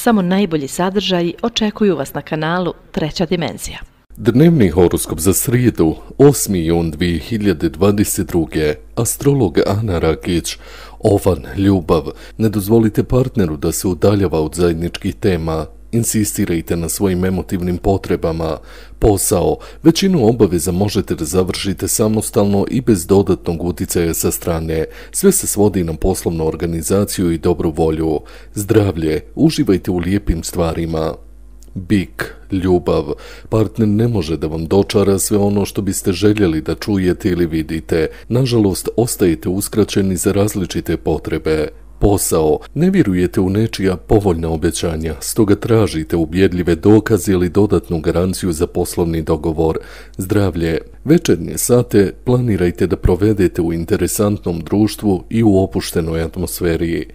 Samo najbolji sadržaji očekuju vas na kanalu Treća dimenzija. Dnevni horoskop za srijedu, 8. jun 2022. Astrolog Ana Rakić. Ovan, ljubav. Ne dozvolite partneru da se udaljava od zajedničkih tema. Insistirajte na svojim emotivnim potrebama. Posao. Većinu obaveza možete da završite samostalno i bez dodatnog utjecaja sa strane. Sve se svodi na poslovnu organizaciju i dobru volju. Zdravlje. Uživajte u lijepim stvarima. Bik, ljubav. Partner ne može da vam dočara sve ono što biste željeli da čujete ili vidite. Nažalost, ostajete uskraćeni za različite potrebe. Posao. Ne vjerujete u nečija povoljna obećanja, stoga tražite ubjedljive dokaze ili dodatnu garanciju za poslovni dogovor. Zdravlje. Večernje sate planirajte da provedete u interesantnom društvu i u opuštenoj atmosferi.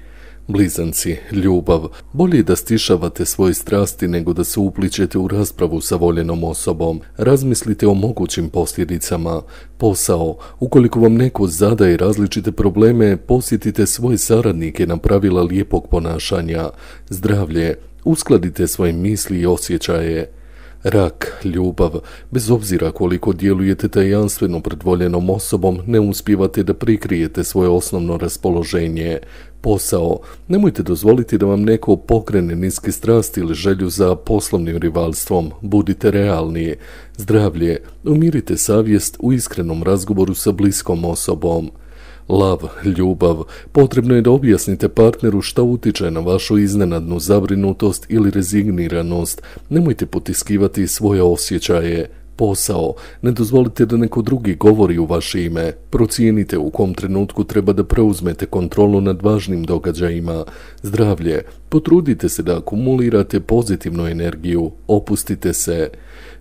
Blizanci, ljubav. Bolje da stišavate svoje strasti nego da se uplićete u raspravu sa voljenom osobom. Razmislite o mogućim posljedicama. Posao. Ukoliko vam neko zadaje različite probleme, posjetite svoje saradnike na pravila lijepog ponašanja. Zdravlje. Uskladite svoje misli i osjećaje. Rak, ljubav. Bez obzira koliko djelujete tajanstveno pred voljenom osobom, ne uspijevate da prikrijete svoje osnovno raspoloženje. Posao. Nemojte dozvoliti da vam neko pokrene niske strasti ili želju za poslovnim rivalstvom. Budite realni. Zdravlje. Umirite savjest u iskrenom razgovoru sa bliskom osobom. Lav, ljubav. Potrebno je da objasnite partneru šta utiče na vašu iznenadnu zabrinutost ili rezigniranost. Nemojte potiskivati svoje osjećaje. Posao. Ne dozvolite da neko drugi govori u vaše ime. Procijenite u kom trenutku treba da preuzmete kontrolu nad važnim događajima. Zdravlje. Potrudite se da akumulirate pozitivnu energiju. Opustite se.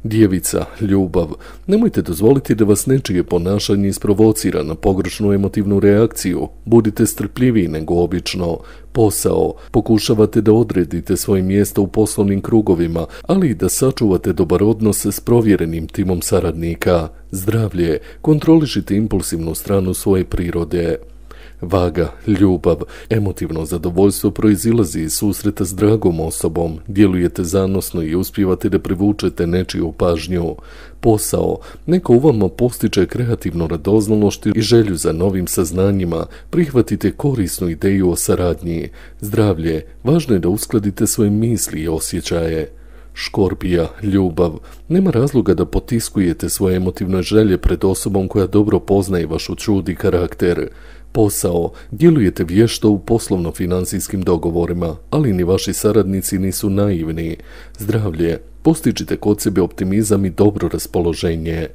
Djevica, ljubav. Nemojte dozvoliti da vas nečije ponašanje isprovocira na pogrešnu emotivnu reakciju. Budite strpljiviji nego obično. Posao. Pokušavate da odredite svoje mjesto u poslovnim krugovima, ali i da sačuvate dobar odnos s provjerenim timom saradnika. Zdravlje. Kontrolišite impulsivnu stranu svoje prirode. Vaga, ljubav. Emotivno zadovoljstvo proizilazi iz susreta s dragom osobom. Djelujete zanosno i uspijevate da privučete nečiju pažnju. Posao. Neko u vama postiče kreativnu radoznalost i želju za novim saznanjima. Prihvatite korisnu ideju o saradnji. Zdravlje. Važno je da uskladite svoje misli i osjećaje. Škorpija, ljubav. Nema razloga da potiskujete svoje emotivne želje pred osobom koja dobro poznaje vašu čud i karakter. Posao. Djelujete vješto u poslovno-financijskim dogovorima, ali ni vaši saradnici nisu naivni. Zdravlje. Postičite kod sebe optimizam i dobro raspoloženje.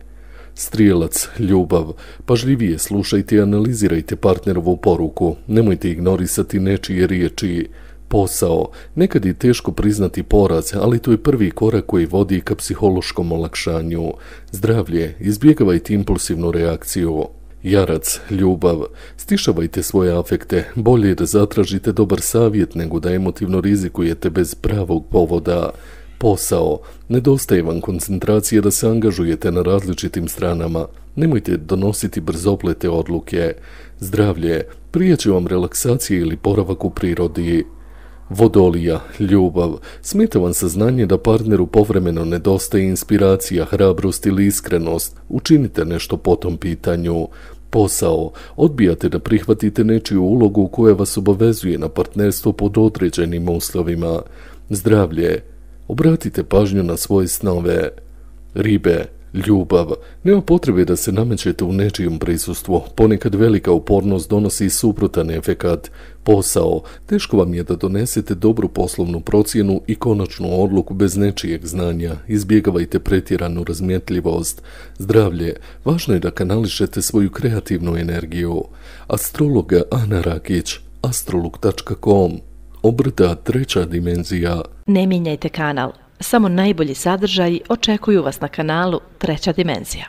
Strijelac, ljubav. Pažljivije slušajte i analizirajte partnerovu poruku. Nemojte ignorisati nečije riječi. Posao. Nekad je teško priznati poraz, ali to je prvi korak koji vodi ka psihološkom olakšanju. Zdravlje. Izbjegavajte impulsivnu reakciju. Jarac, ljubav. Stišavajte svoje afekte. Bolje je da zatražite dobar savjet nego da emotivno rizikujete bez pravog povoda. Posao. Nedostaje vam koncentracije da se angažujete na različitim stranama. Nemojte donositi brzoplete odluke. Zdravlje. Prije će vam relaksacija ili boravak u prirodi. Vodolija, ljubav. Smeta vam saznanje da partneru povremeno nedostaje inspiracija, hrabrost ili iskrenost. Učinite nešto po tom pitanju. Posao. Odbijate da prihvatite nečiju ulogu koja vas obavezuje na partnerstvo pod određenim uslovima. Zdravlje. Obratite pažnju na svoje snove. Ribe, ljubav. Nema potrebe da se namećete u nečijem prisustvu. Ponekad velika upornost donosi suprotan efekat. Posao. Teško vam je da donesete dobru poslovnu procjenu i konačnu odluku bez nečijeg znanja. Izbjegavajte pretjeranu razmjetljivost. Zdravlje. Važno je da kanališete svoju kreativnu energiju. Astrologa Ana Rakić. astrolog.com. Obrta Treća dimenzija. Ne mijenjajte kanal. Samo najbolji sadržaji očekuju vas na kanalu Treća dimenzija.